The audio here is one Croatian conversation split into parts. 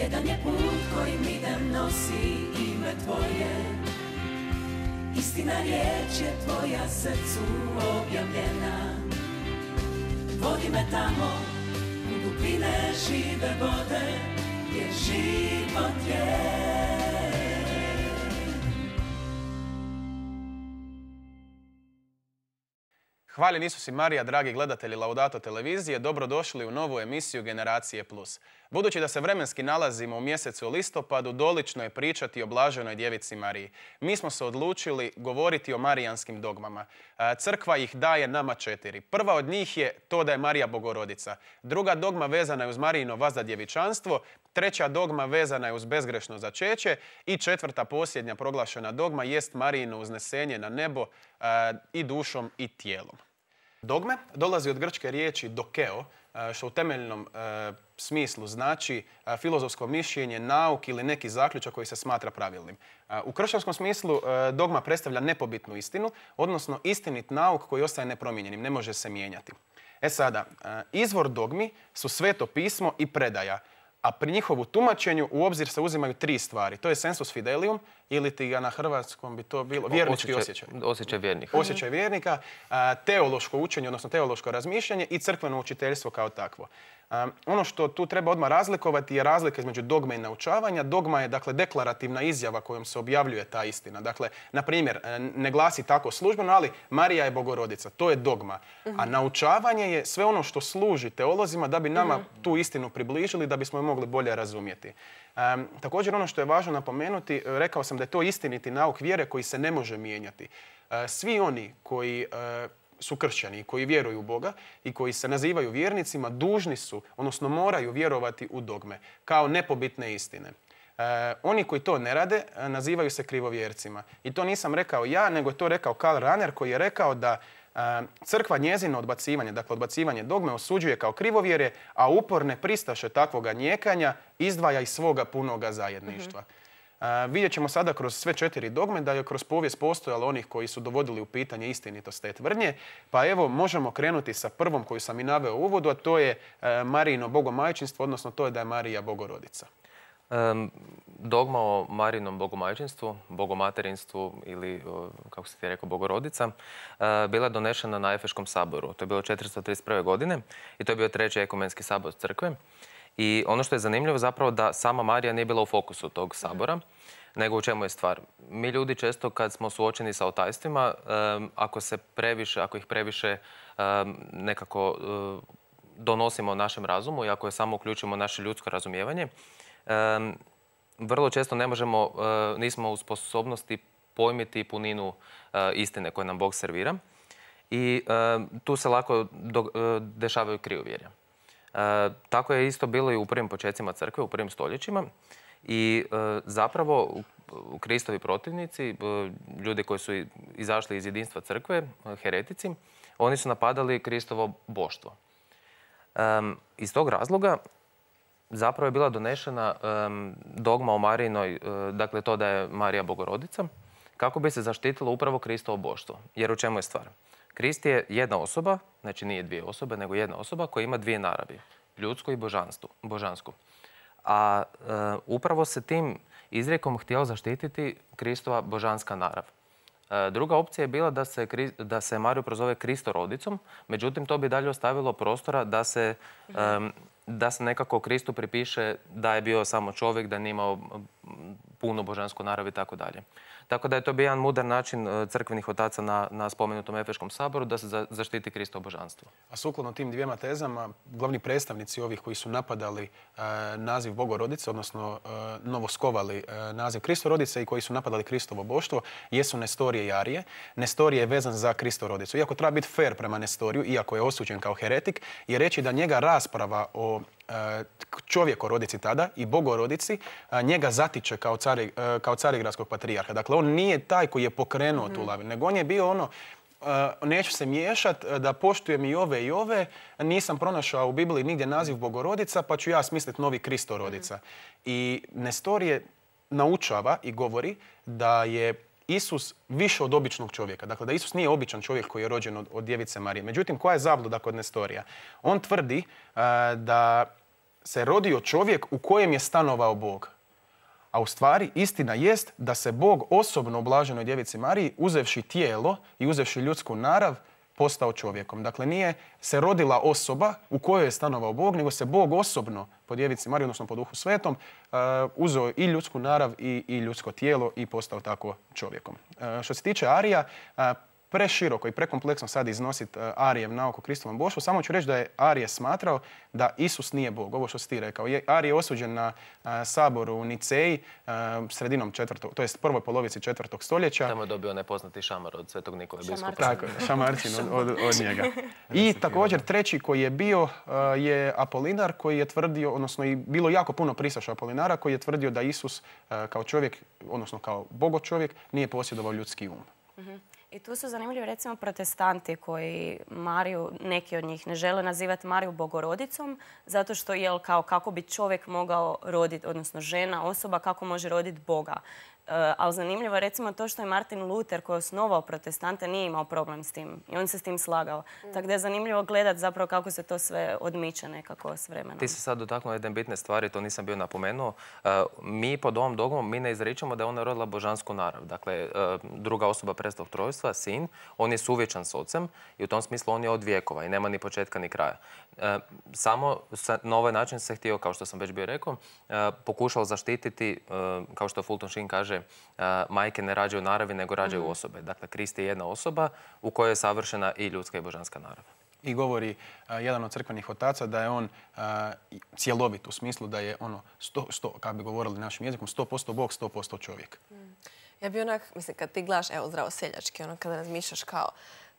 Jedan je put kojim idem nosi ime tvoje. Istina riječ je tvoja srcu objavljena. Vodi me tamo u dubine žive vode gdje život je. Hvaljen Isus i Marija, dragi gledatelji Laudato televizije, dobrodošli u novu emisiju Generacije Plus. Budući da se vremenski nalazimo u mjesecu listopadu, dolično je pričati o blaženoj djevici Mariji. Mi smo se odlučili govoriti o marijanskim dogmama. Crkva ih daje nama 4. Prva od njih je to da je Marija Bogorodica. Druga dogma vezana je uz Marijino vazdadjevičanstvo. Treća dogma vezana je uz bezgrešno začeće. I četvrta, posljednja proglašena dogma jest Marijino uznesenje na nebo i dušom i tijelom. Dogme dolazi od grčke riječi dokeo, što u temeljnom smislu znači filozofsko mišljenje, nauk ili neki zaključak koji se smatra pravilnim. U kršćanskom smislu dogma predstavlja nepobitnu istinu, odnosno istinit nauk koji ostaje nepromijenjenim, ne može se mijenjati. Sada, izvor dogmi su Sveto pismo i predaja, a pri njihovu tumačenju u obzir se uzimaju 3 stvari. To je sensus fidelium, ili ti ga na hrvatskom bi to bilo vjernički osjećaj. Osjećaj vjernika. Osjećaj vjernika, teološko učenje, odnosno teološko razmišljanje i crkveno učiteljstvo kao takvo. Ono što tu treba odmah razlikovati je razlika između dogme i naučavanja. Dogma je, dakle, deklarativna izjava kojom se objavljuje ta istina. Dakle, na primjer, ne glasi tako službeno, ali Marija je Bogorodica. To je dogma. A naučavanje je sve ono što služi teolozima da bi nama tu istinu približili, da bismo je mogli bolje razumjeti. Također, ono što je važno napomenuti, rekao sam da je to istiniti nauk vjere koji se ne može mijenjati. Svi oni koji su kršćani, koji vjeruju u Boga i koji se nazivaju vjernicima, dužni su, odnosno moraju vjerovati u dogme kao nepobitne istine. Oni koji to ne rade nazivaju se krivovjercima. I to nisam rekao ja, nego je to rekao Karl Rahner, koji je rekao da crkva njezino odbacivanje, dakle odbacivanje dogme, osuđuje kao krivovjerje, a uporne pristaše takvoga njekanja izdvaja iz svoga punoga zajedništva. Vidjet ćemo sada kroz sve 4 dogme da je kroz povijest postojalo onih koji su dovodili u pitanje istinitost te tvrdnje. Pa evo, možemo krenuti sa prvom koju sam i naveo u uvodu, a to je Marijino bogomajčinstvo, odnosno to je da je Marija Bogorodica. Dogma o Marijinom bogomajčinstvu, bogomaterinstvu ili, kako si ti rekao, Bogorodica, bila je donešena na Efeškom saboru. To je bilo 431. godine i to je bio 3. ekumenski sabor crkve. I ono što je zanimljivo zapravo da sama Marija nije bila u fokusu tog sabora, nego u čemu je stvar. Mi ljudi često kad smo suočeni sa otajstvima, ako ih previše nekako donosimo našem razumu i ako je samo uključimo naše ljudsko razumijevanje, vrlo često nismo u sposobnosti pojmiti puninu istine koje nam Bog servira i tu se lako dešavaju krivovjerja. Tako je isto bilo i u prvim počecima crkve, u prvim stoljećima i zapravo Kristovi protivnici, ljudi koji su izašli iz jedinstva crkve, heretici, oni su napadali Kristovo boštvo. Iz tog razloga zapravo je bila donešena dogma o Marijinoj, dakle to da je Marija Bogorodica, kako bi se zaštitilo upravo Kristovo boštvo. Jer u čemu je stvar? Krist je jedna osoba, znači nije 2 osobe, nego jedna osoba koja ima 2 naravi, ljudsku i božansku. A upravo se tim izrijekom htjelo zaštititi Kristova božanska narav. Druga opcija je bila da se Mariju prozove Kristorodicom, međutim to bi dalje ostavilo prostora da se nekako Kristu pripiše da je bio samo čovjek, da nije imao punu božansku narav i tako dalje. Tako da je to bio jedan mudar način crkvenih otaca na spomenutom Efeškom saboru da se zaštiti Kristovo božanstvo. A sukladno tim 2 tezama, glavni predstavnici ovih koji su napadali naziv Bogorodice, odnosno novoskovali naziv Kristorodice i koji su napadali Kristovo boštvo, jesu Nestorije i Arije. Nestorije je vezan za Kristorodicu. Iako treba biti fair prema Nestoriju, iako je osuđen kao heretik, je reći da njega rasprava o čovjekorodici tada i Bogorodici njega zatiče kao carigradskog patrijarha. Dakle, on nije taj koji je pokrenuo tu lavinu, nego on je bio ono, neću se miješati, da poštujem i ove, nisam pronašao u Bibliji nigdje naziv Bogorodica, pa ću ja smisliti novi Kristorodica. I Nestorije naučava i govori da je Isus više od običnog čovjeka. Dakle, da Isus nije običan čovjek koji je rođen od djevice Marije. Međutim, koja je zabluda kod Nestorija? On tvrdi da se rodio čovjek u kojem je stanovao Bog. A u stvari istina jest da se Bog osobno oblaženoj djevici Mariji, uzevši tijelo i uzevši ljudsku narav, postao čovjekom. Dakle, nije se rodila osoba u kojoj je stanovao Bog, nego se Bog osobno po djevici Mariji, odnosno po Duhu Svetom, uzeo i ljudsku narav i ljudsko tijelo i postao tako čovjekom. Što se tiče Arija, preširoko i prekompleksno sad iznositi Arijev nauk o Kristovom boštvu. Samo ću reći da je Arije smatrao da Isus nije Bog. Ovo što si ti rekao. Arije je osuđen na saboru u Niceji sredinom to jest prvoj polovici 4. stoljeća. Tamo je dobio nepoznati šamar od Svetog Nikole biskupa. Tako, šamarčin od njega. I također treći koji je bio je Apolinar koji je tvrdio, odnosno i bilo jako puno pristaša Apolinara koji je tvrdio da Isus kao čovjek, odnosno kao bogočovjek, nije posjedovao ljudski um. I tu su zanimljivi recimo protestanti koji Mariju, neki od njih ne žele nazivati Mariju bogorodicom zato što je kako bi čovjek mogao roditi, odnosno žena, osoba, kako može roditi Boga. Ali zanimljivo je recimo to što je Martin Luther koji je osnovao protestante nije imao problem s tim i on se s tim slagao. Tako da je zanimljivo gledati zapravo kako se to sve odmiče nekako s vremenom. Ti si sad dotaknuo jedne bitne stvari, to nisam bio napomenuo. Mi pod ovom dogmom mi ne izričemo da je ona rodila božansku narav. Dakle, druga osoba prestog trojstva, sin, on je suvječan s ocem i u tom smislu on je od vijekova i nema ni početka ni kraja. Samo na ovaj način se htio, kao što sam već bio rekao, pokušao zaštititi, kao što Fulton Sheen kaže, majke ne rađaju naravi, nego rađaju osobe. Dakle, Krist je jedna osoba u kojoj je savršena i ljudska i božanska narav. I govori jedan od crkvenih otaca da je on cjelovit u smislu da je kako bi govorili našim jezikom, 100% Bog, 100% čovjek. Ja bi mislim, kad ti gledaš, evo, zdravo seljački, kada razmišljaš kao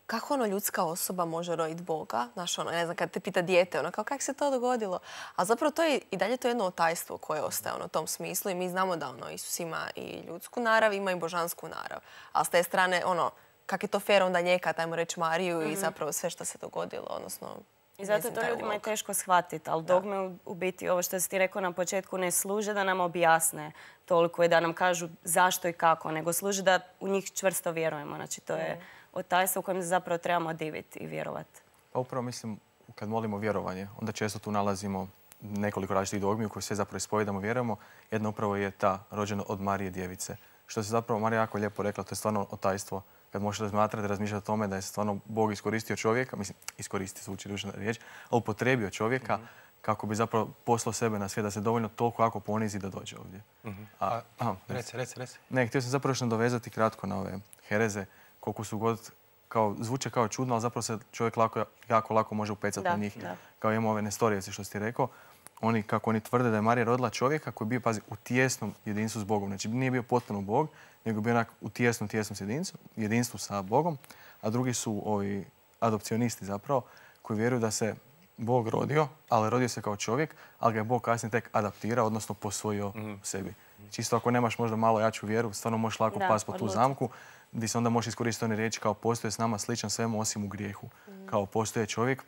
kako ljudska osoba može roditi Boga? Znaš, ne znam, kad te pita dijete, kako se to dogodilo? A zapravo to je i dalje to jedno otajstvo koje ostaje u tom smislu i mi znamo da Isus ima i ljudsku narav, ima i božansku narav. A s te strane, kak je to fair onda njekat, ajmo reći Mariju i zapravo sve što se dogodilo, odnosno... I zato to ljudima je teško shvatiti, ali dogme u biti, ovo što si ti rekao na početku, ne služe da nam objasne toliko i da nam kažu zašto i kako, nego služe da u njih čvrsto vjerujemo. Znači, to je otajstvo u kojem se zapravo trebamo diviti i vjerovati. Pa upravo mislim, kad molimo vjerovanje, onda često tu nalazimo nekoliko različitih dogmi u koje sve zapravo ispovijedamo, vjerujemo. Jedna upravo je ta rođena od Marije djevice. Što se zapravo Marija jako lijepo rekla, to je stvarno otajstvo. Kad možeš razmišljati o tome da je stvarno Bog iskoristio čovjeka, mislim, iskoristiti zvuči ružna riječ, ali upotrijebio čovjeka kako bi zapravo poslao sebe na svijet, da se dovoljno toliko jako ponizi da dođe ovdje. Reci. Ne, htio sam zapravo još nadovezati kratko na ove hereze, koliko su god zvuče kao čudno, ali zapravo se čovjek jako lako može upecati na njih. Kao imamo ove nestorijevce što si ti rekao. Kako oni tvrde da je Marija rodila čovjeka koji je bio, pazi, u tijesnom jedinstvu s Bogom. Znači nije bio potpuno Bog, nego bio onak u tijesnom jedinstvu sa Bogom. A drugi su ovi adopcionisti zapravo, koji vjeruju da se Bog rodio, ali rodio se kao čovjek, ali ga je Bog kasnije tek adaptirao, odnosno posvojio sebi. Čisto ako nemaš možda malo jaču vjeru, stvarno možeš lako pasti po tu zamku, gdje se onda možeš iskoristiti one riječi kao postoje s nama sličan svemu osim u grijehu. Kao postoje čovjek,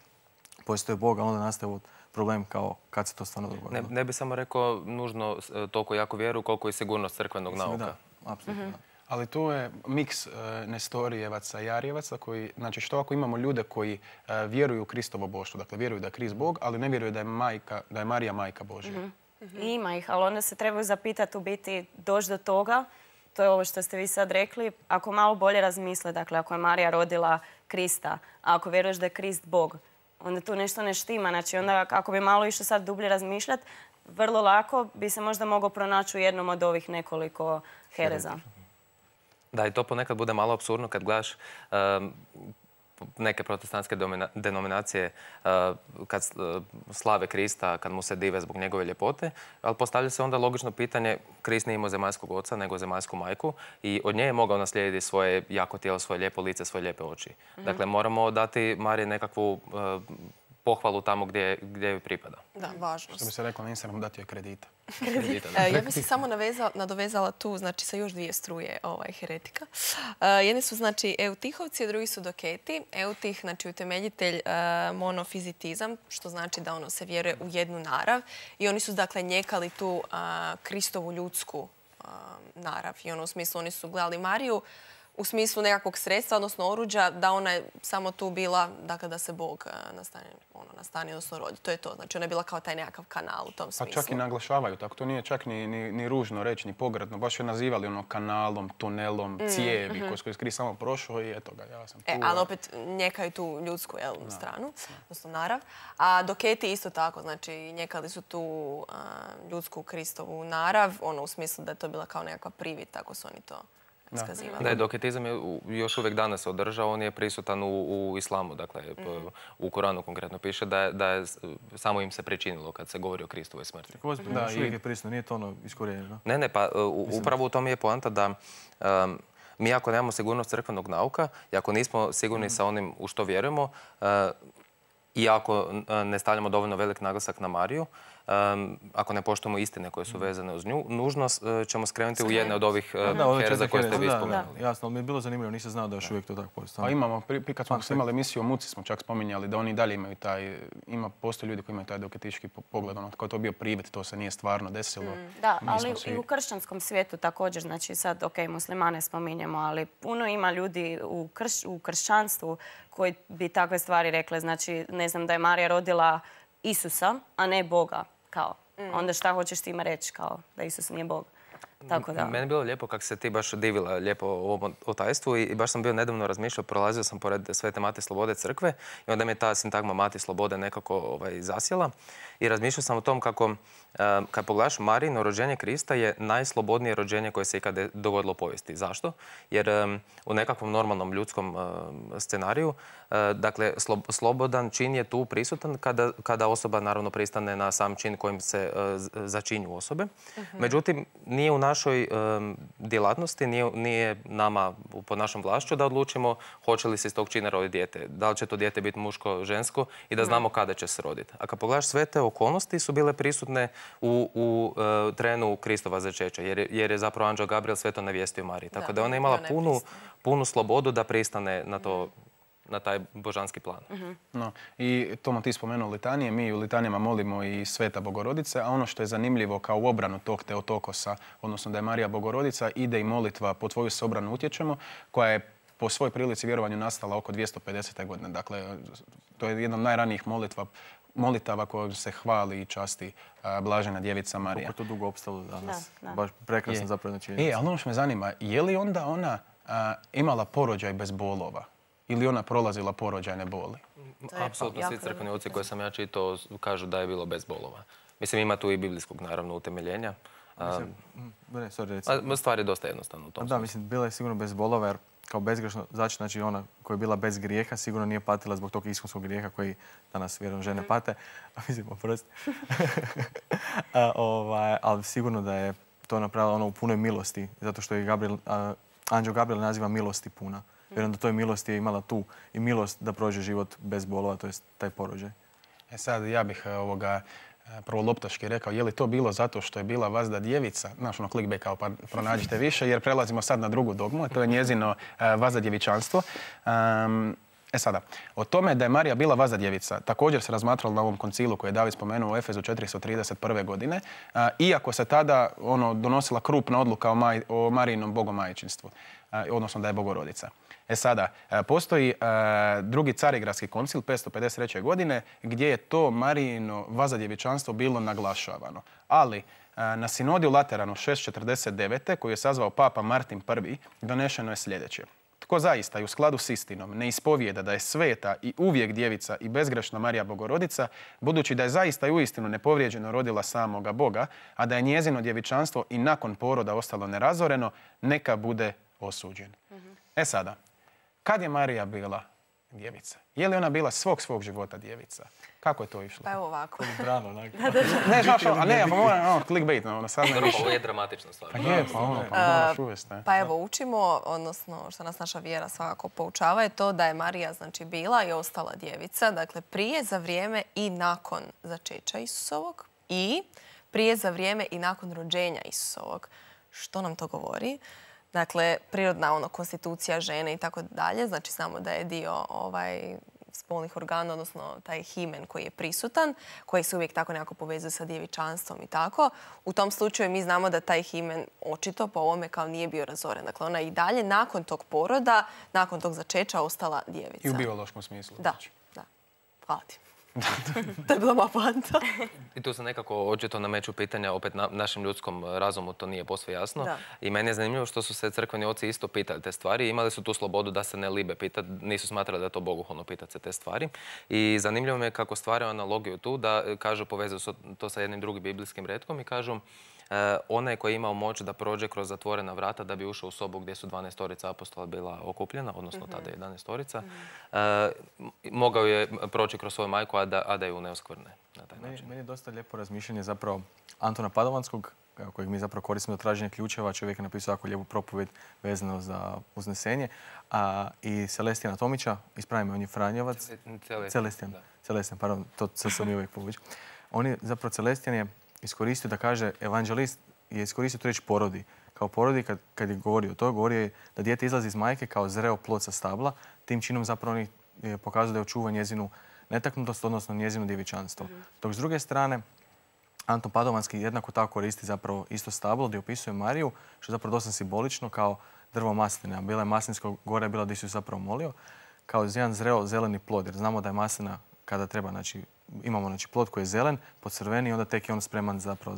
postoje Bog, a onda nastaje problem kao kad se to stvarno dogodilo. Ne bi samo rekao nužno toliko jako vjeru koliko i sigurnost crkvenog nauka. Da, apsolutno. Ali tu je miks nestorijevaca i arijevaca koji, znači što ako imamo ljude koji vjeruju u Kristovo boštvo, dakle vjeruju da je Krist Bog, ali ne vjeruju da je Marija majka Božja. Ima ih, ali onda se trebaju zapitati u biti doći do toga, to je ovo što ste vi sad rekli, ako malo bolje razmisle, dakle ako je Marija rodila Krista, a ako vjeruješ da je Krist Bog, onda tu nešto ne štima. Znači onda ako bi malo išlo sad dublje razmišljati, vrlo lako bi se možda mogao pronaći u jednom od ovih nekoliko hereza. Da, i to ponekad bude malo apsurdno kad gledaš neke protestantske denominacije kad slave Krista, kad mu se dive zbog njegove ljepote, ali postavlja se onda logično pitanje, Krist nije imao zemaljskog oca, nego zemaljsku majku i od nje je mogao naslijediti svoje jako tijelo, svoje lijepo lice, svoje lijepe oči. Dakle, moramo dati Mariji nekakvu pohvalu tamo gdje joj pripada. Da, važno. Što bi se reklo na Instagramu, dati joj kredita. Ja bih se samo nadovezala tu, znači, sa još dvije struje heretika. Jedni su, znači, eutihovci, a drugi su doketi. Eutih, znači, utemeljitelj monofizitizam, što znači da se vjeruje u jednu narav. I oni su, dakle, njekali tu Kristovu ljudsku narav. I u smislu, oni su gledali Mariju u smislu nekakvog sredstva, odnosno oruđa, da ona je samo tu bila, dakle, da se Bog nastani, odnosno rodi. To je to. Znači, ona je bila kao taj nekakav kanal u tom smislu. Pa čak i naglašavaju tako. To nije čak ni ružno reći, ni pogradno. Baš je nazivali ono kanalom, tunelom, cijevi koji su skri samo prošao i eto ga, ja sam tu. Ali opet njekaju tu ljudsku stranu, odnosno narav. A doketi isto tako, znači njekali su tu ljudsku Kristovu narav, ono u smislu da je to bila kao nekakva privid, tako su oni to iskazivali. Da, doketizam je još uvijek danas održao, on je prisutan u islamu, dakle u Koranu konkretno piše da je samo im se pričinilo kad se govori o Kristovoj smrti. Da, još uvijek je prisutno, nije to ono iskorijenjeno. Ne, pa upravo u tom je poanta da mi ako nemamo sigurnost crkvenog nauka i ako nismo sigurni sa onim u što vjerujemo i ako ne stavljamo dovoljno velik naglasak na Mariju, ako ne poštujemo istine koje su vezane uz nju, nužno ćemo skrenuti u jedne od ovih hereza koje ste vi spomenuli. Jasno, ali mi je bilo zanimljivo, nisam znao da još uvijek to tako postoji. Pa imamo, kad smo imali emisiju o muci, smo čak spominjali da oni dalje imaju postoje ljudi koji imaju taj doketički pogled, ono, kao je to bio privid, to se nije stvarno desilo. Da, ali i u kršćanskom svijetu također, znači sad, muslimane spominjemo, ali puno ima ljudi u kršćanstvu koji bi takve stvari rekle, znači, ne znam, da je Marija rodila Isusa, a ne Boga. Kao. Onda šta hoćeš time reći, kao da Isus nije Bog? Tako da. Meni je bilo lijepo kako se ti baš divila lijepo o ovom otajstvu i baš sam bio nedavno razmišljao, prolazio sam pored Svete Mati Slobode crkve i onda mi je ta sintagma Mati Slobode nekako zasjela i razmišljao sam o tom kako kad pogledaš Marijino rođenje Krista je najslobodnije rođenje koje se ikad dogodilo u povijesti. Zašto? Jer u nekakvom normalnom ljudskom scenariju, dakle, slobodan čin je tu prisutan kada osoba naravno pristane na sam čin kojim se začinju osobe. Međutim, nije u našoj djelatnosti, nije nama pod našom vlašću da odlučimo hoće li se iz tog čina roditi dijete. Da li će to dijete biti muško, žensko i da znamo kada će se roditi. A kad pogledaš, sve te okolnosti su bile prisutne u trenu Kristova začeća, jer je zapravo anđeo Gabriel sve to navijestio Mariji. Tako da ona je imala punu slobodu da pristane na taj božanski plan. No, i Tomo, ti spomenuo litanije. Mi u litanijama molimo i Sveta Bogorodice, a ono što je zanimljivo kao u obranu tog Teotokosa, odnosno da je Marija Bogorodica, ide i molitva Po tvoju se obranu utječemo, koja je po svojoj prilici vjerovanju nastala oko 250. godine. Dakle, to je jedna od najranijih molitava kojom se hvali i časti blažena djevica Marija. Kako je to dugo opstalo danas. Baš prekrasno zapravo na činjenica. Ali ono što me zanima, je li onda ona imala porođaj bez bolova? Ili ona prolazila porođajne boli? Apsolutno svi crkveni oci koje sam ja čitao kažu da je bilo bez bolova. Mislim, ima tu i biblijskog, naravno, utemeljenja. Stvar je dosta jednostavna u tom smislu. Da, mislim, bila je sigurno bez bolova, jer kao bezgrešno, znači ona koja je bila bez grijeha, sigurno nije patila zbog tog iskonskog grijeha koji danas vjerujem žene pate. Mislim, oprosti. Ali sigurno da je to napravila ona u punoj milosti, zato što je anđeo Gabriel naziva milosti puna. Vjerujem da toj milosti je imala tu i milost da prođe život bez bolova, to je taj porođaj. Sad ja bih prvo loptaški rekao, je li to bilo zato što je bila vazda djevica, znaš ono clickbait kao pa pronađite više, jer prelazimo sad na drugu dogmu, a to je njezino vazda djevičanstvo. Sada, o tome da je Marija bila vazda djevica također se razmatralo na ovom koncilu koji je David spomenuo u Efezu 431. godine, iako se tada donosila krupna odluka o Marijinom bogomajčinstvu, odnosno da je Bogorodica. Sada, postoji drugi Carigradski koncil 553. godine gdje je to Marijino vazadjevičanstvo bilo naglašavano. Ali na sinodi u Lateranu 649. koju je sazvao Papa Martin I. donešeno je sljedeće. Tko zaista i u skladu s istinom ne ispovijeda da je sveta i uvijek djevica i bezgrešna Marija Bogorodica, budući da je zaista i uistinu nepovrijeđeno rodila samoga Boga, a da je njezino djevičanstvo i nakon poroda ostalo nerazoreno, neka bude osuđen. Sada, kad je Marija bila djevica? Je li ona bila svog života djevica? Kako je to išlo? Pa evo ovako. Ne, znaš, pa moram clickbait. Ovo je dramatična stvar. Pa je, pa moraš uvesti. Pa evo, učimo, odnosno što nas naša vjera svakako poučava, je to da je Marija znači bila i ostala djevica, dakle prije, za vrijeme i nakon začeća Isusovog i prije, za vrijeme i nakon rođenja Isusovog. Što nam to govori? Dakle, prirodna konstitucija žene i tako dalje. Znači, znamo da je dio spolnih organa, odnosno taj himen koji je prisutan, koji se uvijek tako nekako povezuje sa djevičanstvom i tako. U tom slučaju mi znamo da taj himen očito po ovome kao nije bio razoren. Dakle, ona i dalje nakon tog poroda, nakon tog začeća ostala djevica. I u biološkom smislu. Da, da. Hvala ti. To je bila moja poanta. I tu se nekako očito nameću pitanja, opet našem ljudskom razumu to nije posve jasno. Da. I meni je zanimljivo što su se crkveni oci isto pitali te stvari i imali su tu slobodu da se ne libe pitati, nisu smatrali da je to bogohulno pitati se te stvari. I zanimljivo mi je kako stvaraju analogiju tu, da kažu, povezuju to sa jednim drugim biblijskim retkom i kažu onaj koji je imao moć da prođe kroz zatvorena vrata da bi ušao u sobu gdje su 12 apostola bila okupljena, odnosno tada 11. Mogao je proći kroz svoju majku, a da ju ne oskvrne na taj način. Meni je dosta lijepo razmišljanje zapravo Antona Padovanskog, kojeg mi zapravo koristimo za traženje ključeva. Čovjek je napisao jako lijepu propovijed vezano za uznesenje. I Celestijana Tomića, ispravimo, on je Franjevac. Celestijan, pardon, to sam i uvijek povući. On je zapravo, Celestijan je iskoristio da kaže, evanđelist je iskoristio tu riječ porodi. Kao porodi, kad je govorio to, govorio je da dijete izlazi iz majke kao zreo plod sa stabla. Tim činom zapravo on je pokazao da je očuva njezinu netaknutost, odnosno njezino djevičanstvo. Dok s druge strane, Anton Padovanski jednako tako koristi zapravo isto stablo gdje opisuje Mariju, što je zapravo dosta simbolično kao drvo masline. A bila je maslinsko, gore je bila gdje su zapravo molio, kao jedan zreo zeleni plod. Jer znamo da je maslina kada treba, znači, imamo plod koji je zelen, pocrveni i onda tek je on spreman zapravo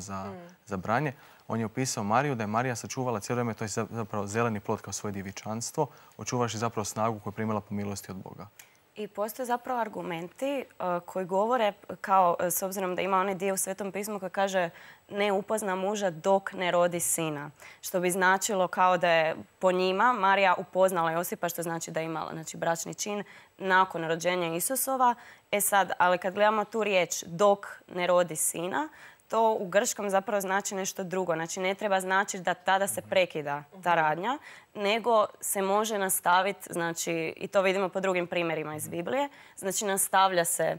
za branje. On je opisao Mariju da je Marija sačuvala cijelo vrijeme, to je zapravo zeleni plod kao svoje djevičanstvo, očuvaš zapravo snagu koju je primila po milosti od Boga. I postoje zapravo argumenti koji govore kao, s obzirom da ima onaj dio u Svetom pismu koji kaže ne upozna muža dok ne rodi sina. Što bi značilo kao da je po njima Marija upoznala Josipa, što znači da je imala bračni čin nakon rođenja Isusova. Sad, ali kad gledamo tu riječ dok ne rodi sina, to u grčkom zapravo znači nešto drugo. Znači ne treba značiti da tada se prekida ta radnja, nego se može nastaviti, znači, i to vidimo po drugim primjerima iz Biblije, znači nastavlja se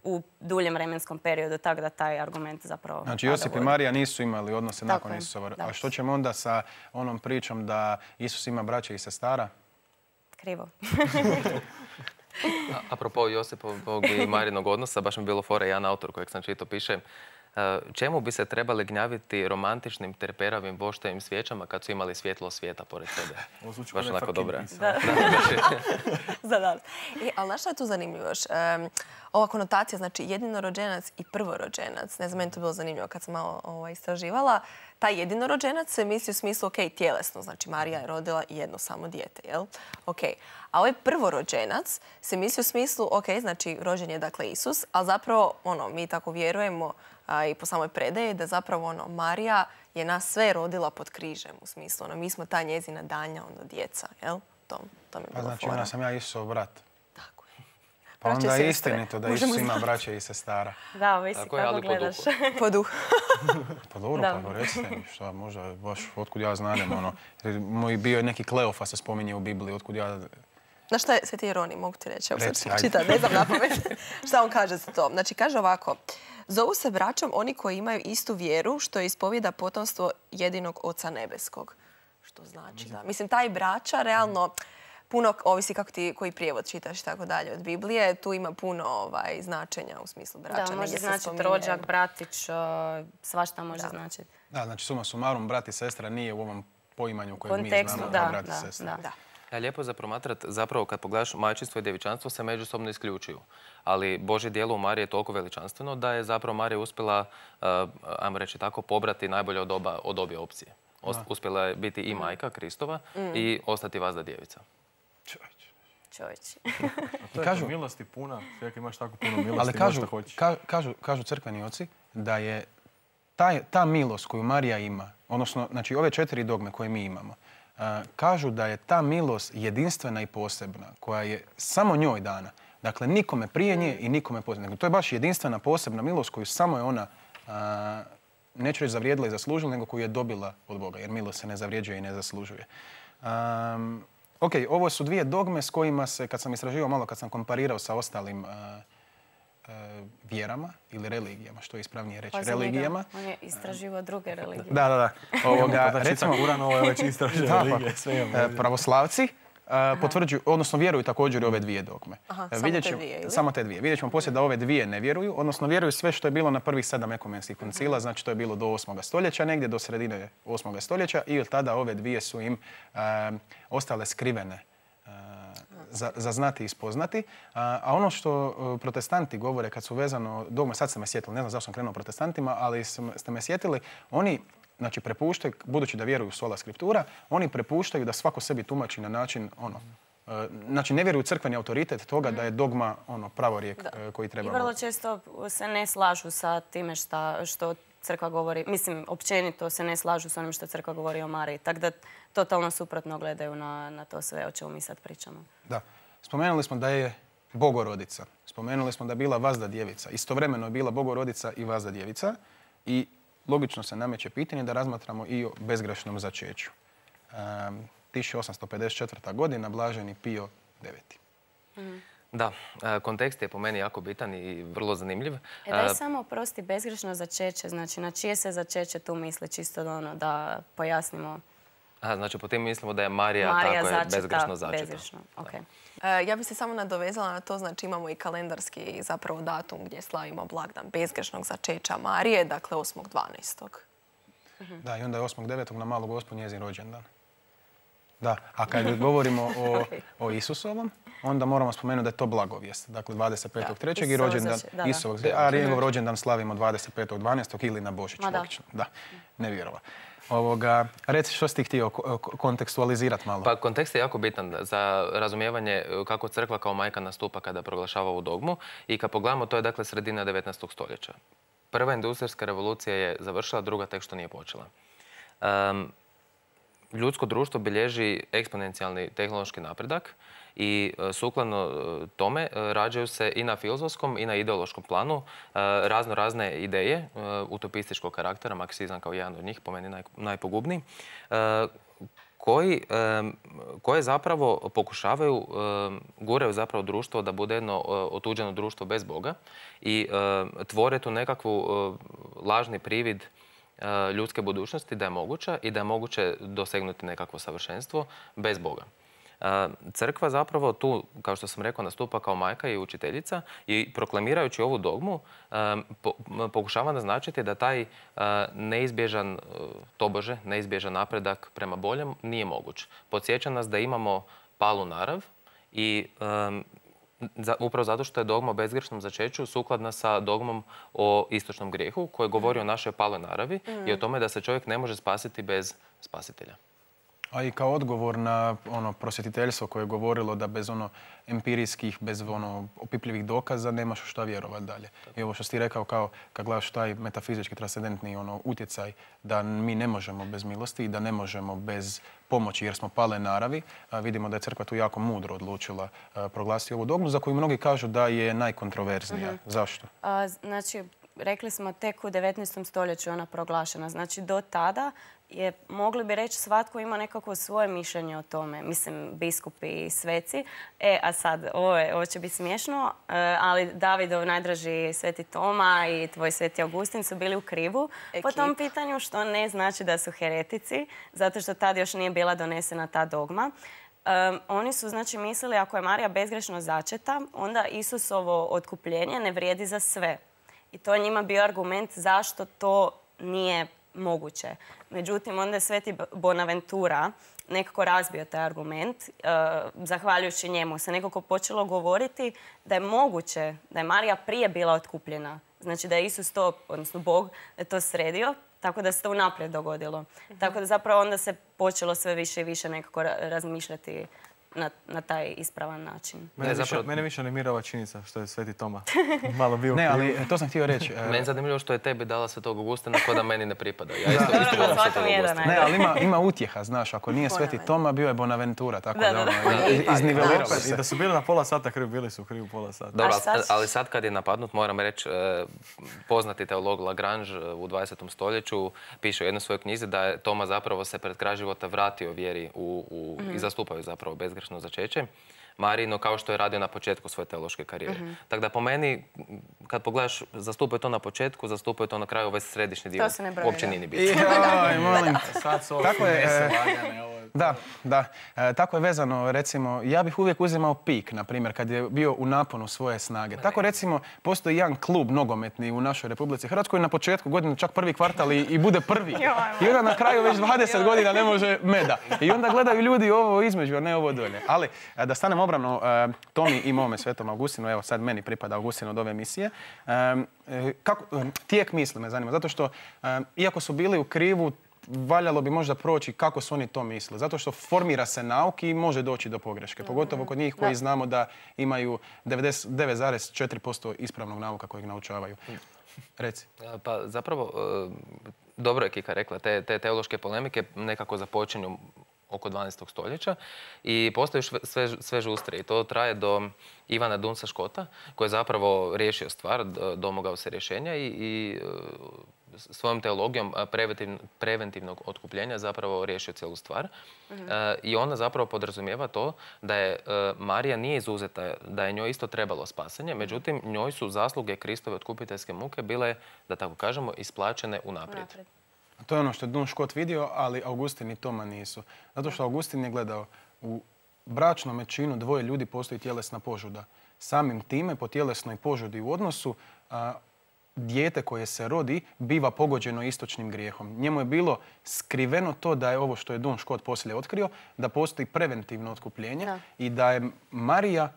u duljem vremenskom periodu, tako da taj argument zapravo... Znači Josip i Marija nisu imali odnose nakon Isusova. A što ćemo onda sa onom pričom da Isus ima braće i sestara? Krivo. Apropo Josipovog i Marijinog odnosa, baš mi je bilo fora, jedan autor kojeg sam čitao piše čemu bi se trebali gnjaviti romantičnim terperavim voštevim svijećama kad su imali svjetlo svijeta pored sebe? Baš onako dobra. Ali znaš što je tu zanimljivo još? Ova konotacija, znači jedinorođenac i prvorođenac, ne znam, meni to bilo zanimljivo kad sam malo istraživala, taj jedinorođenac se misli u smislu, ok, tjelesno, znači Marija je rodila jedno samo dijete, jel? Ok. A ovaj prvorođenac se misli u smislu, ok, znači rođen je dakle Isus, ali zapravo, mi tako vjerujemo i po samoj predaji da zapravo Marija je nas sve rodila pod križem, u smislu, mi smo ta njezina daljnja djeca, jel? To mi je bilo fora. Znači, ona sam ja Isusov brat. Tako je. Pa onda je istinito da Isus ima braće i sestara. Da, visi kako gledaš. Po duhu. Pa dobro, pa recite mi šta, možda baš otkud ja znanem, Moj bio je neki Kleofa se spominje u Bibliji, otkud ja... Znaš šta je Sveti Jeronij, mogu ti reći? Ne znam napamet šta on kaže za to. Znači, kaže ovako. Zovu se braćom oni koji imaju istu vjeru, što ispovijeda potomstvo jedinog Oca nebeskog. Što znači da... Mislim, taj braća realno puno, ovisi kako ti koji prijevod čitaš i tako dalje od Biblije, tu ima puno značenja u smislu braća. Da, može značiti rođak, bratić, svašta može značiti. Da, znači suma sumarum, brat i sestra nije u ovom poimanju kojeg mi znamo kao brat i sestra. Lijepo je za promatrati, zapravo kad pogledaš majčinstvo i djevičanstvo se međusobno isključuju. Ali Božje djelo u Mariji je toliko veličanstveno da je zapravo Marija uspjela, ajmo reći tako, pobrati najbolje od obje opcije. Uspjela je biti i majka Kristova i ostati vazda djevica. Čovječ. To je milosti puna, čovjek imaš tako puno milosti, ali kažu crkveni oci da je ta milost koju Marija ima, odnosno znači ove 4 dogme koje mi imamo, kažu da je ta milost jedinstvena i posebna, koja je samo njoj dana. Dakle, nikome prije nje i nikome poslije. Dakle, to je baš jedinstvena, posebna milost koju samo je ona, neću reći zavrijedila i zaslužila, nego koju je dobila od Boga, jer milost se ne zavrijeđuje i ne zaslužuje. Ok, ovo su 2 dogme s kojima se, kad sam istraživao malo, kad sam komparirao sa ostalim vjerama ili religijama, što je ispravnije reći, religijama. On je istraživao druge religije. Da. Recimo, Kuran, ovo je već istražio religije. Pravoslavci potvrđuju, odnosno vjeruju također i ove dvije dogme. Samo te dvije. Vidjet ćemo poslije da ove dvije ne vjeruju, odnosno vjeruju sve što je bilo na prvih 7 ekumenskih koncila, znači to je bilo do 8. stoljeća, negdje do sredine 8. stoljeća i od tada ove dvije su im ostale skrivene za znati i spoznati. A ono što protestanti govore kad su vezano dogme, sad ste me sjetili, ne znam zašto sam krenuo protestantima, ali ste me sjetili, oni znači prepuštaju, budući da vjeruju u sola skriptura, oni prepuštaju da svako sebi tumači na način znači ne vjeruju crkveni autoritet toga da je dogma pravorijek koji treba. I vrlo često se ne slažu sa time što crkva govori, mislim, općenito se ne slažu s onim što crkva govori o Mariji. Tako da totalno suprotno gledaju na to sve o čemu mi sad pričamo. Da. Spomenuli smo da je Bogorodica. Spomenuli smo da je bila Vazda djevica. Istovremeno je bila Bogorodica i Vazda djevica. I logično se nameće pitanje da razmatramo i o bezgrešnom začeću. 1854. godina, blaženi Pio IX. Da, kontekst je po meni jako bitan i vrlo zanimljiv. Daj samo oprosti, bezgrešno začeće, znači na čije se začeće tu misli, čisto da pojasnimo. Znači po tim mislimo da je Marija tako je bezgrešno začeta. Bezgrešno, okay. Ja bih se samo nadovezala na to, znači imamo i kalendarski zapravo datum gdje slavimo blagdan bezgrešnog začeća Marije, dakle 8.12. Da, i onda je 8.9. na Malu Gospu njezin rođendan. Da, a kad govorimo o Isusovom, onda moramo spomenuti da je to blagovijest. Dakle, 25.3. i rođendan Isusovog. A njegov rođendan slavimo 25.12. ili na Božić. Da, ne vjerova. Reci što si ti htio kontekstualizirati malo. Pa kontekst je jako bitan za razumijevanje kako crkva kao majka nastupa kada proglašava ovu dogmu. I kad pogledamo, to je dakle sredina 19. stoljeća. Prva industrijska revolucija je završila, druga tek što nije počela. Ljudsko društvo bilježi eksponencijalni tehnološki napredak i sukladno tome rađaju se i na filozofskom i na ideološkom planu razne ideje utopističkog karaktera, marksizam kao jedan od njih, po meni najpogubniji, koje zapravo pokušavaju, guraju zapravo društvo da bude jedno otuđeno društvo bez Boga i tvore tu nekakvu lažni privid ljudske budućnosti da je moguća i da je moguće dosegnuti nekakvo savršenstvo bez Boga. Crkva zapravo tu, kao što sam rekao, nastupa kao majka i učiteljica i proklamirajući ovu dogmu pokušava naznačiti da taj neizbježan, tobože, neizbježan napredak prema boljem nije moguć. Podsjeća nas da imamo palu narav i upravo zato što je dogma o bezgrešnom začeću sukladna sa dogmom o istočnom grijehu koji govori o našoj paloj naravi i o tome da se čovjek ne može spasiti bez spasitelja. A i kao odgovor na prosvjetiteljstvo koje je govorilo da bez empirijskih, bez opipljivih dokaza nemaš šta vjerovati dalje. I ovo što si ti rekao kao kad gledaš taj metafizički transcendentni utjecaj da mi ne možemo bez milosti i da ne možemo bez pomoći jer smo pale naravi. Vidimo da je crkva tu jako mudro odlučila proglasiti ovu dogmu za koju mnogi kažu da je najkontroverznija. Zašto? Znači, rekli smo tek u 19. stoljeću ona proglašena. Znači, do tada je, mogli bi reći, svatko ima nekako svoje mišljenje o tome. Mislim, biskupi i sveci. A sad, ovo će biti smiješno, ali Davidov najdraži sveti Toma i tvoj sveti Augustin su bili u krivu po tom pitanju, što ne znači da su heretici, zato što tad još nije bila donesena ta dogma. Oni su, znači, mislili ako je Marija bezgrešno začeta, onda Isusovo otkupljenje ne vrijedi za sve. I to je njima bio argument zašto to nije moguće. Međutim, onda je sveti Bonaventura nekako razbio taj argument. Zahvaljujući njemu se nekako počelo govoriti da je moguće da je Marija prije bila otkupljena. Znači da je Isus to, odnosno Bog, da je to sredio, tako da se to unaprijed dogodilo. Tako da zapravo onda se počelo sve više i više nekako razmišljati na taj ispravan način. Mene više animira ova činjenica što je sveti Toma malo bio. Ne, ali to sam htio reći. Meni je zanimljivo što je tebi dala svetog Augustina ko da meni ne pripada. Ja isto volim svetog Augustina. Ne, ali ima utjeha, znaš. Ako nije sveti Toma, bio je Bonaventura. Tako da izniveliralo se. I da su bili na pola sata krivi, bili su krivi pola sata. Dobro, ali sad kad je napadnut, moram reći, poznati teolog Lagrange u 20. stoljeću piše u jednoj svojoj knjizi da je Toma zapravo se pred kraj života vratio vjeri i zastupaju zapravo bezgrešno začeće Marijino, kao što je radio na početku svoje teološke karijere. Tako da po meni, kad pogledaš, zastupaju to na početku, zastupaju to na kraju, ovaj središnji dio. To se ne broji. Uopće nije ni bitno. Joj, molim. Sad su ovo finese lagane. Da. Tako je vezano, recimo, ja bih uvijek uzimao Pik, na primjer, kad je bio u naponu svoje snage. Tako, recimo, postoji jedan klub nogometni u našoj Republici Hrvatskoj na početku godine čak prvi kvartal i bude prvi. I onda na kraju već 20 godina ne može meda. I onda gledaju ljudi ovo između, a ne ovo dolje. Ali, da stanem obrano Tomi i mome Svetom Augustinu, evo sad meni pripada Augustin od ove emisije, tijek misli me zanima, zato što, iako su bili u krivu, valjalo bi možda proći kako su oni to misle. Zato što formira se nauk i može doći do pogreške. Pogotovo kod njih koji znamo da imaju 99,4% ispravnog nauka kojeg naučavaju. Reci. Pa zapravo, dobro je Kika rekla, te teološke polemike nekako započinju oko 12. stoljeća i postaju sve žustrije. I to traje do Ivana Dunsa Škota, koji je zapravo riješio stvar, domogao se rješenja i svojom teologijom preventivnog otkupljenja zapravo riješio cijelu stvar. I ona zapravo podrazumijeva to da je Marija nije izuzeta, da je njoj isto trebalo spasanje, međutim njoj su zasluge Kristove otkupiteljske muke bile, da tako kažemo, isplaćene unaprijed. To je ono što je Dun Škot vidio, ali Augustin i Toma nisu. Zato što Augustin je gledao u bračnom činu dvoje ljudi postoji tjelesna požuda. Samim time, po tjelesnoj požudi u odnosu, dijete koje se rodi biva pogođeno istočnim grijehom. Njemu je bilo skriveno to da je ovo što je Dun Škot poslije otkrio, da postoji preventivno otkupljenje i da je Marija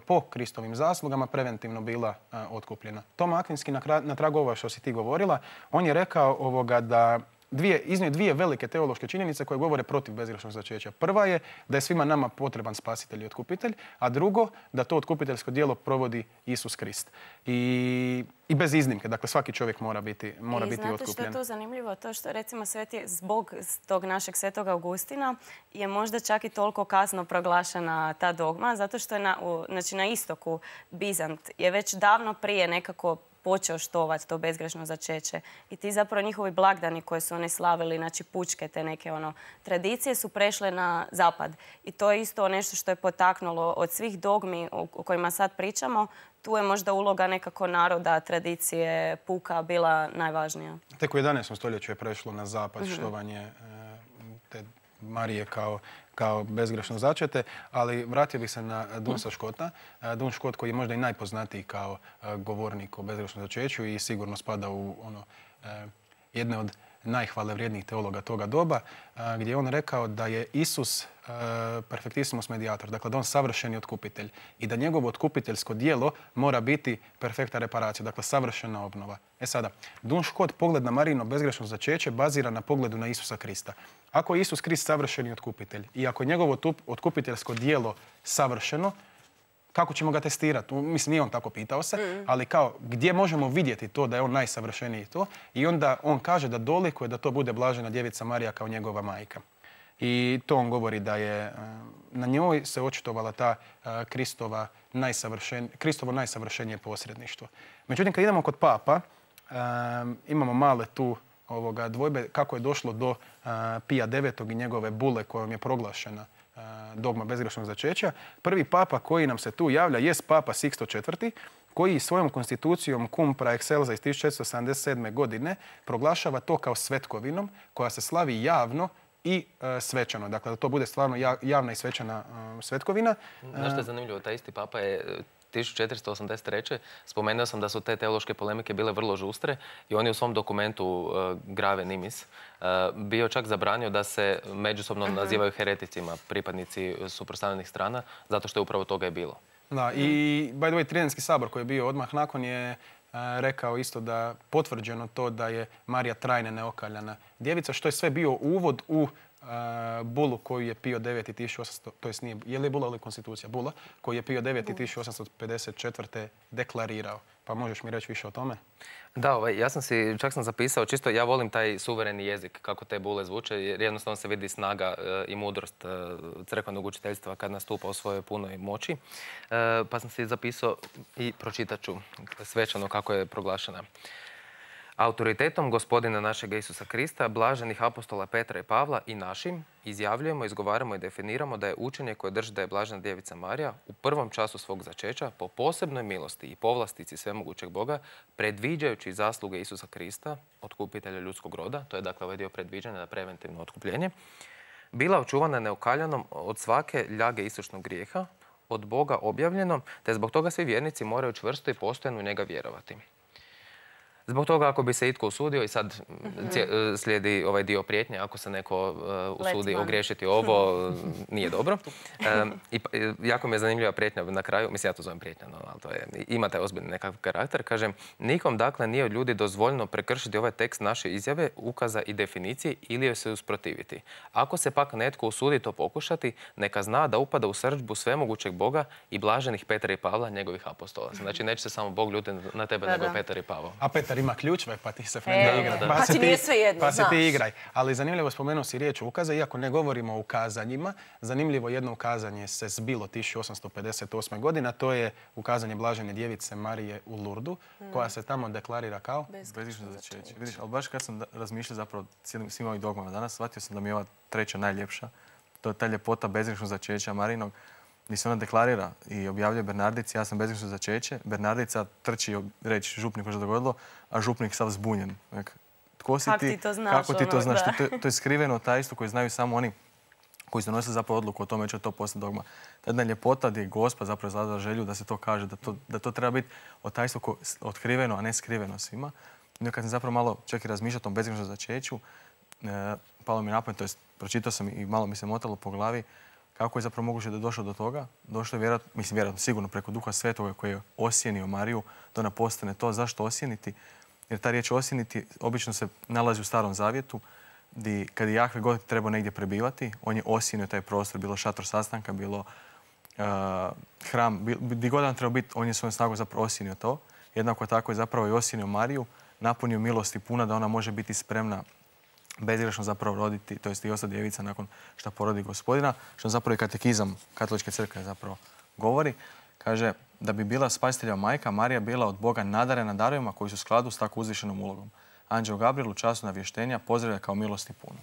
po Kristovim zaslugama preventivno bila otkupljena. Toma Akvinski, na tragu ovo što si ti govorila, on je rekao da iznio dvije velike teološke činjenice koje govore protiv bezgrešnog začeća. Prva je da je svima nama potreban spasitelj i otkupitelj, a drugo da to otkupiteljsko djelo provodi Isus Krist. I bez iznimke, dakle svaki čovjek mora biti otkupljen. I znate što je to zanimljivo? To što recimo zbog tog našeg Svetog Augustina je možda čak i toliko kasno proglašena ta dogma, zato što je na istoku Bizant je već davno prije nekako počeo štovati to bezgrešno začeće. I ti zapravo njihovi blagdani koje su oni slavili, znači pučke, te neke tradicije su prešle na zapad. I to je isto nešto što je potaknulo od svih dogmi o kojima sad pričamo. Tu je možda uloga nekako naroda, tradicije, puka bila najvažnija. Tek u 11. stoljeću je prešlo na zapad štovanje te Marije kao bezgrešno začete, ali vratio bih se na Dunsa Škota. Dun Škot koji je možda i najpoznatiji kao govornik o bezgrešnom začeću i sigurno spada u jedne od najhvalevrijednijih teologa toga doba, gdje je on rekao da je Isus perfektissimus mediator, dakle da on savršeni otkupitelj i da njegovo otkupiteljsko djelo mora biti perfekta reparacija, dakle savršena obnova. Sada, Dun Škot pogled na Marijino bezgrešno začeće bazira na pogledu na Isusa Krista. Ako je Isus Krist savršeni otkupitelj i ako je njegovo otkupiteljsko djelo savršeno, kako ćemo ga testirati? Mislim, nije on tako pitao se, ali kao gdje možemo vidjeti to da je on najsavršeniji to? I onda on kaže da dolikuje da to bude blažena djevica Marija kao njegova majka. I to on govori da je na njoj se očitovala ta Kristovo najsavršenije posredništvo. Međutim, kad idemo kod papa, imamo male tu dvojbe kako je došlo do Pija IX. I njegove bule kojom je proglašena dogma bezgrešnog začeća. Prvi papa koji nam se tu javlja jest papa Sixto IV. Koji svojom konstitucijom Cum pra excelsa iz 1477. godine proglašava to kao svetkovinom koja se slavi javno i svečano. Dakle, da to bude stvarno javna i svečana svetkovina. Znaš što je zanimljivo? Taj isti papa je 1483. spomenuo sam da su te teološke polemike bile vrlo žustre i on je u svom dokumentu Grave Nimis bio čak zabranio da se međusobno nazivaju hereticima pripadnici suprotstavljenih strana, zato što je upravo toga je bilo. Da, i by the way, Tridentski sabor koji je bio odmah nakon je rekao isto da potvrđeno to da je Marija trajne neokaljana djevica, što je sve bio uvod u bulu koju je Pio IX 1800, to jest nije, je li bula ili konstitucija? Bula, koju je Pio IX 1854. deklarirao. Pa možeš mi reći više o tome? Da, čak sam zapisao, čisto ja volim taj suvereni jezik, kako te bule zvuče, jer jednostavno se vidi snaga i mudrost crkvenog učiteljstva kad nastupa u svojoj punoj moći. Pa sam si zapisao i pročitat ću svečano kako je proglašena. Autoritetom Gospodina našega Isusa Krista, blaženih apostola Petra i Pavla i našim, izjavljujemo, izgovaramo i definiramo da je učenje koje drži da je blažena djevica Marija u prvom času svog začeća po posebnoj milosti i povlastici svemogućeg Boga, predviđajući zasluge Isusa Krista, otkupitelja ljudskog roda, to je dakle ovaj dio predviđanja na preventivno otkupljenje, bila očuvana neokaljanom od svake ljage istočnog grijeha, od Boga objavljeno, te zbog toga svi vjernici moraju čvrsto i postojano u njega vjerovati. Zbog toga ako bi se itko usudio, i sad slijedi ovaj dio prijetnje, ako se neko usudi ogriješiti ovo, nije dobro. Jako mi je zanimljiva prijetnja na kraju, mislim ja to zovem prijetnja, ali to je, ima taj ozbiljni nekakav karakter. Kažem, nikom dakle nije od ljudi dozvoljeno prekršiti ovaj tekst naše izjave, ukaza i definicije ili joj se usprotiviti. Ako se pak netko usudi to pokušati, neka zna da upada u srdžbu svemogućeg Boga i blaženih Petra i Pavla, njegovih apostola. Znači neće se samo Bog ljutiti na tebe, nego Petar i Pavao. A Petar ima ključeve, pa ti se Frenda igra. Pa ti nije sve jedno, pa se ti igraj. Ali zanimljivo, spomenuo si riječ ukaza, iako ne govorimo o ukazanjima, zanimljivo jedno ukazanje se zbilo 1858. godine, a to je ukazanje Blažene djevice Marije u Lurdu, koja se tamo deklarira kao bezgrešno začeće. Vidiš, ali baš kad sam razmišljao zapravo svim ovim dogmama danas, shvatio sam da mi je ova treća najljepša. To je ta ljepota bezgrešnog začeća Marijinog, gdje se ona deklarira i objavljuje Bernardici, ja sam bezgrešno začeće. Bernardica trči reći župniku što je dogodilo, a župnik sav zbunjen. Tko si ti? Kako ti to znaš? To je skriveno tajstvo koje znaju samo oni koji su donosili zapravo odluku o tome će to postati dogma. Ta jedna ljepota gdje je Gospa zapravo izrazila želju da se to kaže, da to treba biti tajstvo otkriveno, a ne skriveno svima. I kad sam zapravo malo čak i razmišljao o tom bezgrešnom začeću, palo mi na pamet, to jest pročitao sam i malo mi se motalo po glavi, kako je zapravo moguće da je došlo do toga. Došlo je vjerojatno sigurno preko Duha Svetoga koji je osjenio Mariju, da ona postane to. Zašto osjeniti? Jer ta riječ osjeniti obično se nalazi u Starom Zavjetu, gdje kad je Jahve god trebao negdje prebivati, on je osjenio taj prostor, bilo šator sastanka, bilo hram, gdje god on trebao biti, on je svojom snagom zapravo osjenio to. Jednako tako je zapravo i osjenio Mariju, napunio milosti puna da ona može biti spremna bezgrešno zapravo roditi, to jest i ostati djevica nakon što porodi Gospodina, što zapravo i katekizam Katoličke crkve zapravo govori. Kaže da bi bila spasitelja majka, Marija bila od Boga nadarena darovima koji su u skladu s tako uzvišenom ulogom. Anđeo Gabriel u času navještenja pozdravlja kao milosti puno.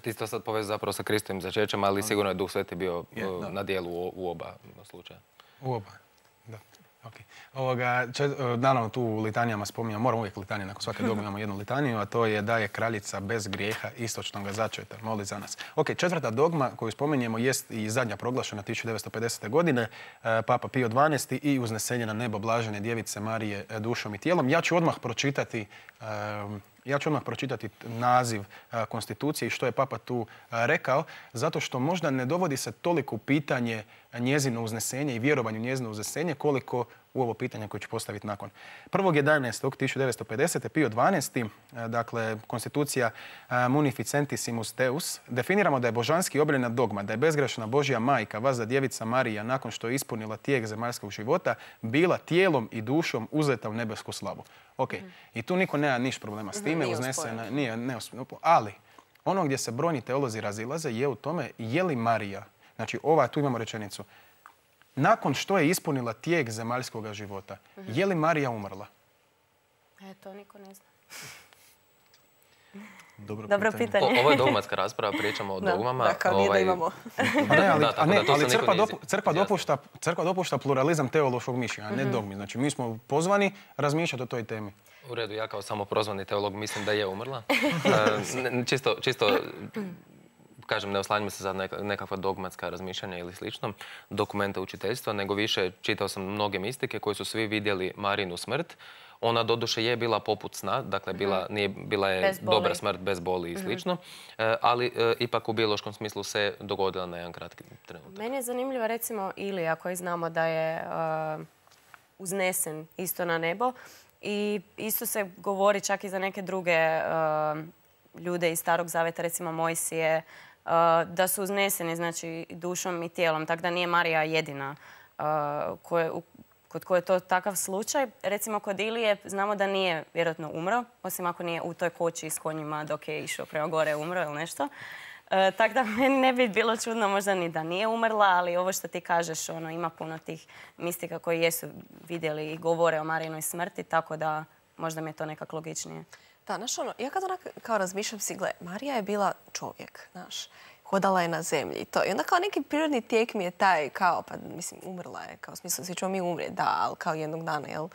Ti to sad povezao zapravo sa Kristovim začećem, ali sigurno je Duh Sveti bio na dijelu u oba slučaja. U oba, da. Naravno, tu u litanijama spominjamo, moram uvijek litanije, nakon svake dogme imamo jednu litaniju, a to je da je kraljica bez grijeha istočnog začeta. Moli za nas. Četvrta dogma koju spominjemo jest i zadnja proglašena 1950. godine, Papa Pio XII i uznesenje na nebo Blažene djevice Marije dušom i tijelom. Ja ću odmah pročitati naziv konstitucije i što je Papa tu rekao, zato što možda ne dovodi se toliko u pitanje njezino uznesenje i vjerovanje u njezino uznesenje koliko u ovo pitanje koje ću postaviti nakon. 1.11.1950. Pio XII, dakle konstitucija Munificentissimus Deus, definiramo da je božanski objavljena dogma, da je bezgrešna Božja majka, vazda djevica Marija, nakon što je ispunila tijek zemaljskog života, bila tijelom i dušom uzeta u nebesku slavu. I tu niko nema niš problema s time, uznesena, nije neosporno, ali ono gdje se brojni teolozi razilaze je u tome je li Marija, znači tu imamo rečenicu, nakon što je ispunila tijek zemaljskog života, je li Marija umrla? To niko ne zna. Dobro pitanje. Ovo je dogmatska rasprava, pričamo o dogmama. Da, kao nije da imamo. Ali crkva dopušta pluralizam teološkog mišljenja, a ne dogmi. Znači, mi smo pozvani razmišljati o toj temi. U redu, ja kao samoprozvani teolog mislim da je umrla. Čisto kažem, ne oslanjamo se za nekakva dogmatska razmišljanja ili slično, dokumenta učiteljstva, nego više čitao sam mnoge mistike koji su svi vidjeli Marinu smrt. Ona doduše je bila poput sna, dakle bila je dobra smrt bez boli i slično, ali ipak u biološkom smislu se dogodila na jedan kratki trenutak. Meni je zanimljiva recimo Ilija koji znamo da je uznesen isto na nebo i isto se govori čak i za neke druge ljude iz Starog Zaveta, recimo Mojsije, da su uzneseni znači, dušom i tijelom, tako da nije Marija jedina kod koje je to takav slučaj. Recimo kod Ilije znamo da nije vjerojatno umro, osim ako nije u toj koči s konjima dok je išao prema gore umro ili nešto. Tako da meni ne bi bilo čudno možda ni da nije umrla, ali ovo što ti kažeš, ima puno tih mistika koji jesu vidjeli i govore o Marijinoj smrti, tako da možda mi je to nekako logičnije. Da, ja kad kao razmišljam si, gle, Marija je bila čovjek, hodala je na zemlji i to. I onda kao neki prirodni tijek mi je taj, kao, pa mislim, umrla je, kao smislu, svi ćemo mi umrijeti, da, ali kao jednog dana, jel?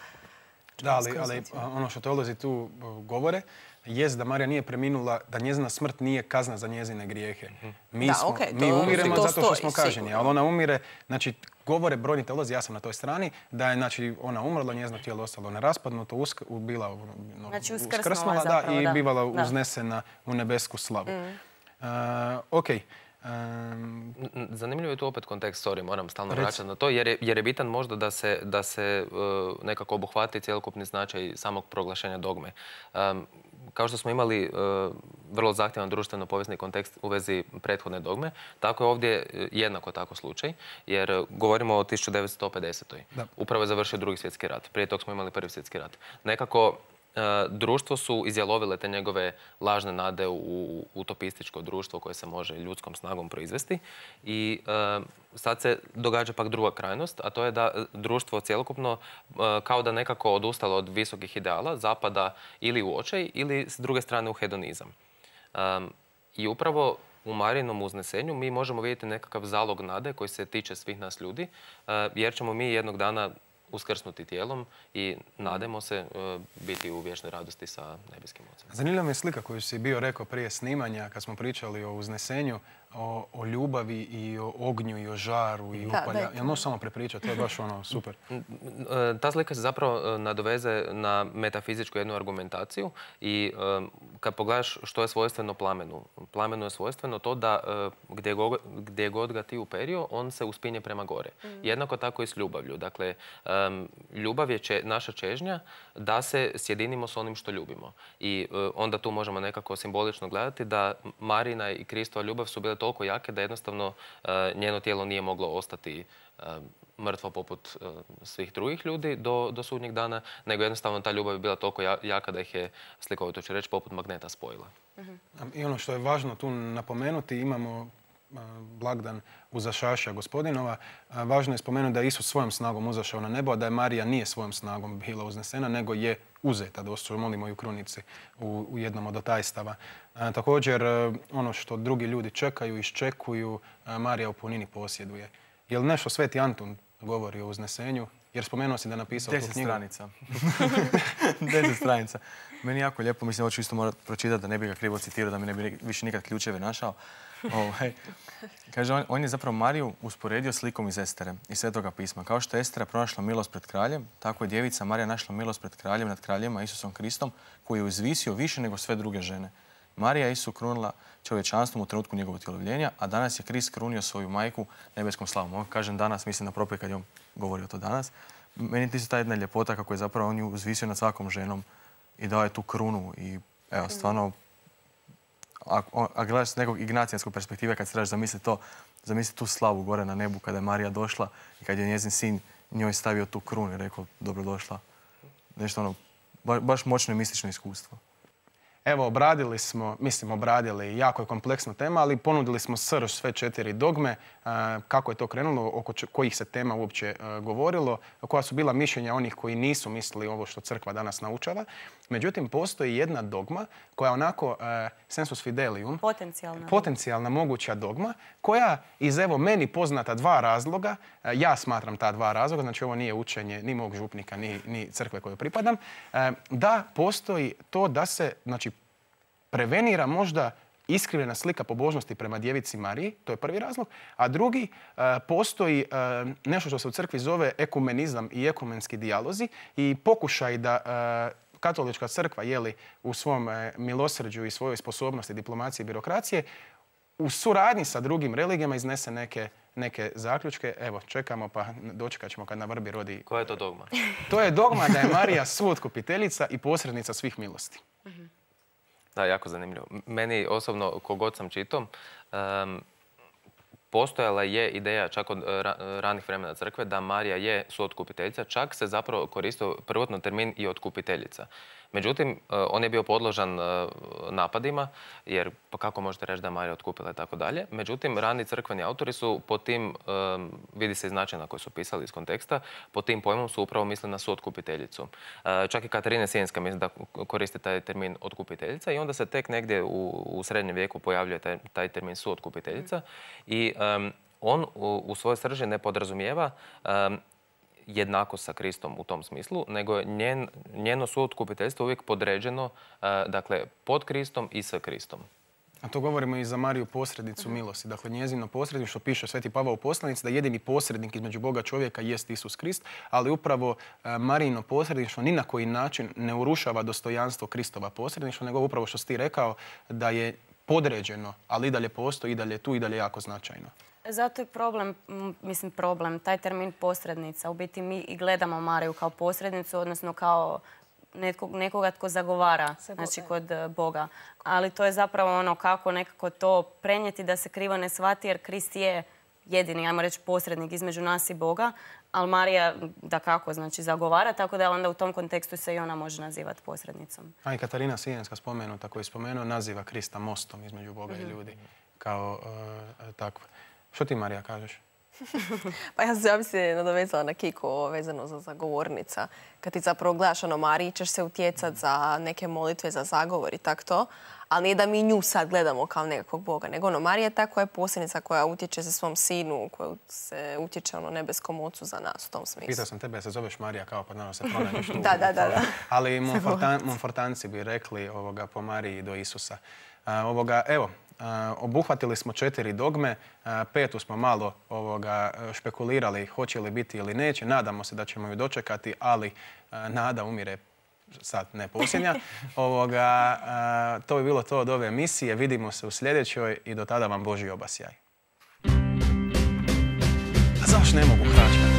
Da, ali ono što teolozi tu govore, jest da Marija nije preminula, da njezina smrt nije kazna za njezine grijehe. Mi umiremo zato što smo kažnjeni, ali ona umire, znači govore brojni teolozi, ja sam na toj strani, da je znači, ona umrla, njezino tijelo ostalo neraspadnuto, bila znači, uskrsnula zapravo, i bivala uznesena u nebesku slavu. Zanimljivo je tu opet kontekst, moram stalno vraćati na to, jer je bitan možda da se nekako obuhvati cjelokupni značaj samog proglašenja dogme. Kao što smo imali vrlo zahtjevan društveno-povijesni kontekst u vezi prethodne dogme, tako je ovdje jednako tako slučaj, jer govorimo o 1950. Upravo je završio Drugi svjetski rat. Prije tog smo imali Prvi svjetski rat. Nekako društvo su izjalovile te njegove lažne nade u utopističko društvo koje se može ljudskom snagom proizvesti i sad se događa pak druga krajnost, a to je da društvo cjelokupno kao da nekako odustalo od visokih ideala, zapada ili u očaj ili s druge strane u hedonizam. I upravo u Marijinom uznesenju mi možemo vidjeti nekakav zalog nade koji se tiče svih nas ljudi, jer ćemo mi jednog dana uskrsnuti tijelom i nademo se biti u vječnoj radosti sa nebeskim Ocem. Zanimljiva mi je slika koju si bio rekao prije snimanja kad smo pričali o uznesenju, o ljubavi i o ognju i o žaru i upalja. Jel možeš samo prepričati? To je baš super. Ta slika se zapravo nadoveze na metafizičku jednu argumentaciju i kad pogledaš što je svojstveno plamenu. Plamenu je svojstveno to da gdje god ga ti uperio, on se uspinje prema gore. Jednako tako i s ljubavlju. Dakle, ljubav je naša čežnja da se sjedinimo s onim što ljubimo. I onda tu možemo nekako simbolično gledati da Marijina i Kristova ljubav su bile toliko jake da jednostavno njeno tijelo nije moglo ostati mrtvo poput svih drugih ljudi do sudnjeg dana, nego jednostavno ta ljubav je bila toliko jaka da ih je, slikovito ću reći, poput magneta spojila. I ono što je važno tu napomenuti, imamo blagdan Uzašaša Gospodinova. Važno je spomenuti da je Isus svojom snagom uzašao na nebo, a da je Marija nije svojom snagom bila uznesena, nego je uzeta, došto molimo i u krunici u jednom od otajstava. Također, ono što drugi ljudi čekaju, iščekuju, Marija u punini posjeduje. Je li nešto Sveti Antun govori o uznesenju? Jer spomenuo si da je napisao tu knjigu. 10 stranica. 10 stranica. Meni jako lijepo, mislim, ovo ću isto morati pročitati da ne bi ga krivo citirao, da mi ne bi više nikad ključeve našao. Kaže, on je zapravo Mariju usporedio slikom iz Estere, iz Svetoga pisma. Kao što je Estera pronašla milost pred kraljem, tako je djevica Marija našla milost pred kraljem nad kraljima, Isusom Kristom, koji je uzvisio više nego sve druge žene. Marija je Isu krunila čovječanstvom u trenutku njegovog utjelovljenja, a danas je Krist krunio svoju majku nebeskom slavom. Ovo kažem danas, mislim na propoj kad je on govorio to danas. Meni ti se ta jedna ljepota kako je zapravo on ju uzvisio nad svakom ženom i dao je tu krunu. I evo, stvarno, a gledaš s nekog ignacijanskog perspektive kad se trebaš zamisliti to, zamisli tu slavu gore na nebu kada je Marija došla i kad je njezin sin njoj stavio tu krunu i rekao dobrodošla. Nešto ono, baš moćno i mistično iskustvo. Evo, obradili, jako je kompleksna tema, ali ponudili smo srž sve 4 dogme, kako je to krenulo, oko kojih se tema uopće govorilo, koja su bila mišljenja onih koji nisu mislili ovo što crkva danas naučava. Međutim, postoji jedna dogma koja onako sensus fidelium, potencijalna moguća dogma, koja iz evo meni poznata 2 razloga, ja smatram ta 2 razloga, znači ovo nije učenje ni mog župnika, ni crkve kojoj pripadam, da postoji to da se, znači, prevenira možda iskrivljena slika pobožnosti prema djevici Mariji, to je prvi razlog, a drugi, postoji nešto što se u crkvi zove ekumenizam i ekumenski dijalozi i pokušaj da katolička crkva u svom milosrđu i svojoj sposobnosti diplomacije i birokracije u suradnji sa drugim religijama iznese neke zaključke. Evo, čekamo pa dočekat ćemo kad na vrbi rodi... Koja je to dogma? To je dogma da je Marija suotkupiteljica i posrednica svih milosti. Da, jako zanimljivo. Meni osobno, kogod sam čitao, postojala je ideja čak od ranih vremena crkve da Marija je suotkupiteljica, čak se zapravo koristio prvotno termin i otkupiteljica. Međutim, on je bio podložan napadima, jer pa kako možete reći da je Marija otkupila i tako dalje. Međutim, rani crkveni autori su po tim, vidi se iz načina koji su pisali iz konteksta, po tim pojmom su upravo mislili na suotkupiteljicu. Čak i Katarina Sienska mislim da koristi taj termin otkupiteljica i onda se tek negdje u srednjem vijeku pojavljuje taj termin suotkupiteljica i on u svojoj srži ne podrazumijeva jednako sa Kristom u tom smislu, nego je njeno suotkupiteljstvo uvijek podređeno, dakle, pod Kristom i sa Kristom. A to govorimo i za Mariju posrednicu milosti. Dakle, njezino posredništvo piše Sveti Pavao u poslanici da jedini posrednik između Boga čovjeka jest Isus Krist, ali upravo Marijino posredništvo ni na koji način ne urušava dostojanstvo Kristova posredništva, nego upravo što si ti rekao da je podređeno, ali i dalje postoji, i dalje tu, i dalje jako značajno. Zato je problem, taj termin posrednica. U biti mi i gledamo Mariju kao posrednicu, odnosno kao nekoga tko zagovara, znači kod Boga. Ali to je zapravo ono kako nekako to prenijeti da se krivo ne shvati, jer Krist je jedini, ajmo reći, posrednik između nas i Boga, ali Marija dakako, znači zagovara, tako da onda u tom kontekstu se i ona može nazivati posrednicom. A i Katarina Sijenska spomenuta, koju je spomenuo, naziva Krista mostom između Boga i ljudi. Kao takva. Što ti, Marija, kažeš? Pa ja bi se nadovezala na Kiko vezano za zagovornica. Kad ti zapravo gledaš Mariji, ćeš se utjecati za neke molitve, za zagovor i tako to. Ali nije da mi nju sad gledamo kao nekakvog Boga, nego Marija je ta koja je posrednica, koja utječe za svom sinu, koja se utječe nebeskom ocu za nas u tom smislu. Pitao sam tebe, se zoveš Marija kao pa naravno se pronađeš tu. Da. Ali Monfortanci bi rekli po Mariji do Isusa. Evo, obuhvatili smo 4 dogme, 5. smo malo špekulirali hoće li biti ili neće. Nadamo se da ćemo ju dočekati, ali nada umire sad, ne posljednja. To bi bilo to od ove emisije. Vidimo se u sljedećoj i do tada vam Božji obasjaj. A zašto ne mogu hračkati?